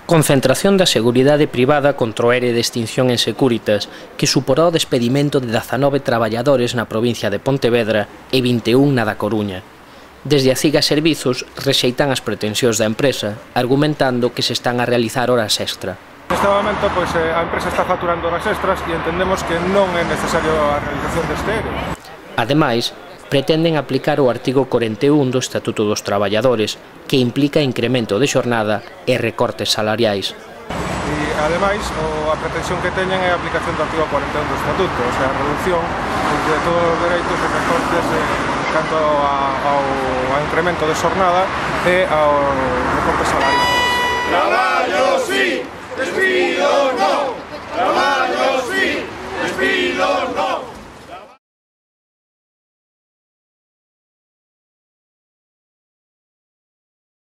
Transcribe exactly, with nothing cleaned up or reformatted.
Concentración da seguridade privada contra o ere de extinción en Securitas, que suporá o despedimento de dezanove traballadores na provincia de Pontevedra e vinte e un na da Coruña. Desde a CIGA Servizos rexeitan as pretensións da empresa, argumentando que se están a realizar horas extra. Neste momento, pois, a empresa está facturando horas extras e entendemos que non é necesario a realización deste ere. Ademais, pretenden aplicar o artigo corenta e un do Estatuto dos Traballadores, que implica incremento de xornada e recortes salariais. E, ademais, o, a pretensión que teñen é a aplicación do artigo corenta e un do Estatuto, o sea, a reducción de todos os dereitos e recortes eh, canto a, ao, ao incremento de xornada e ao recortes salariais. Traballo sí, despido no. Traballo sí, despido no.